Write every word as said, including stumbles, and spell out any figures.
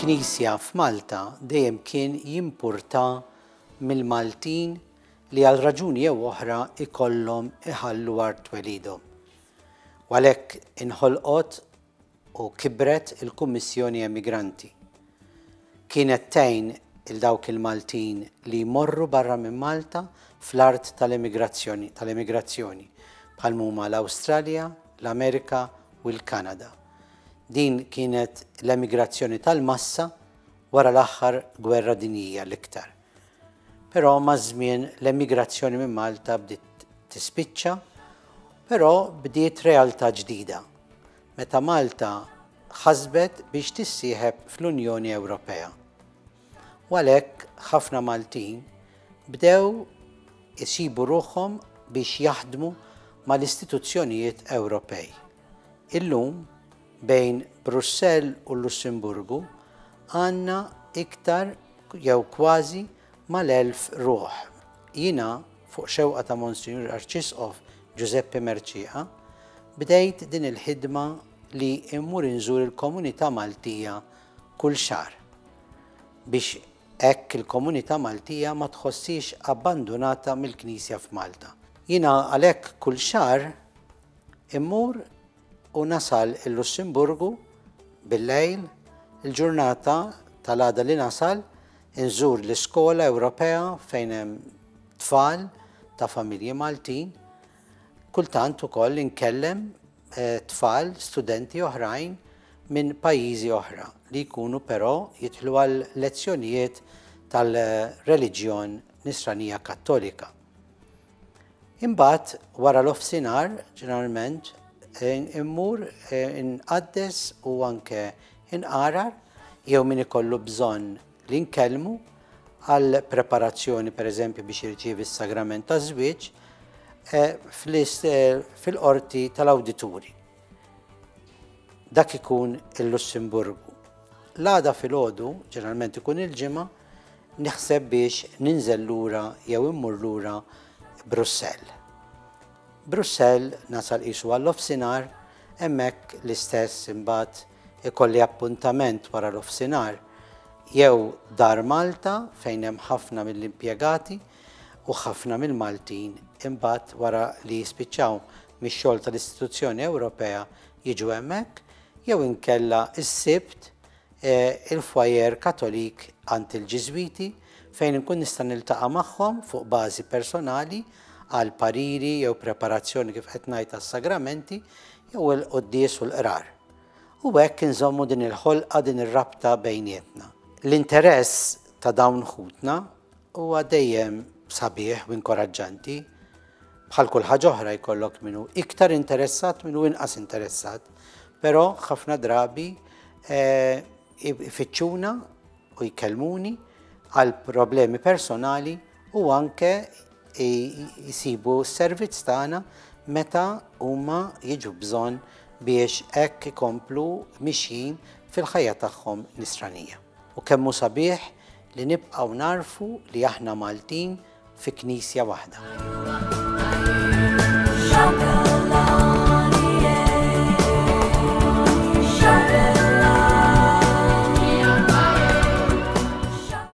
Il-Knisja f'Malta dejjem kien jimpurta mill-Maltin li għal raġuni jew oħra ikollhom iħallu art twelidhom. U għalhekk inħolqot u kibret il-Kummissjoni Emigranti. Kienet tgħin il dawk il-Maltin li jmorru barra minn Malta fl-art tal-emigrazzjoni, tal-emigrazzjoni bħal huma l-Awstralja, l-Amerika u l-Kanada. Din kienet l-emigrazzjoni tal-massa wara l-aħħar gwerra dinjija l-iktar. Però maż-żmien l-emigrazzjoni minn Malta bdiet tispiċċa, però bdiet realtà ġdida. Meta Malta ħasbet biex tissieħeb fl-Unjoni Ewropea. U għalhekk ħafna Maltin bdew isibu ruħhom biex jaħdmu mal-istituzzjonijiet Ewropej. Illum bejn Brussell u Lussemburgu għandna iktar jew kważi mal-elf ruħ. Jiena fuq xewqa ta' Monsinjur Arċisqof Giuseppe Mercieca bdejt din il-ħidma li immur inżur il-komunità Maltija kull xahar biex hekk il-komunità Maltija ma tħossix abbandonata mill-Knisja f'Malta. Jiena għalhekk kull xahar immur u nasal il-Lussemburgu bil-lejl, il-ġurnata tal-għada li nasal, inżur l-iskola Ewropea fejn hemm tfal ta' familji Maltin. Kultant ukoll inkellem eh, tfal, studenti oħrajn minn pajjiżi oħra li jkunu però jidħlu għal lezzjonijiet tal-reliġjon Nisranija Kattolika. Imbagħad wara l-offsinar, ġeneralment, eh, immur eh, inqaddes u anke inqarar jew min ikollu bżonn li nkellmu għal preparazzjoni per eżempju biex jirċievi s-sagrament ta' żwieġ eh, fil-qorti tal-awdituri. Dak ikun il-Lussemburgu. L-għada filgħodu, ġeneralment ikun il-Ġimgħa, naħseb biex ninżel lura jew immur lura Brussell. Brussell nasal qisu għall-offsinar, hemmhekk l-istess imbagħad ikolli appuntament wara l-offsinar jew Dar Malta fejn hemm ħafna mill-impjegati u ħafna mill-Maltin imbagħad wara li jispiċċaw mix-xogħol tal-istituzzjoni Ewropea jiġu hemmhekk jew inkella s-Sibt eh, il-foyer Katolik għand il-Ġiżwiti fejn inkun nista' niltaqa' magħhom fuq bażi personali għal pariri jew preparazzjoni kif qed ngħid għas-sagramenti jew il-quddies u l-qrar. U hekk inżommu din il-ħolqa, din ir-rabta bejnietna. L-interess ta' dawn ħutna huwa dejjem sabiħ u inkoraġġanti. Bħal kull ħaġa oħra jkollok minnu iktar interessat, minnu inqas interessat, però ħafna drabi eh, ifittxuna u jkellmuni għal problemi personali u anke jisibu s-servizz tagħna meta huma jiġu bżonn biex hekk ikomplu mixjin fil-ħajja tagħhom nisranija. U kemm hu sabiħ li nibqgħu narfu li aħna Maltin fi knisja waħda. Shaka.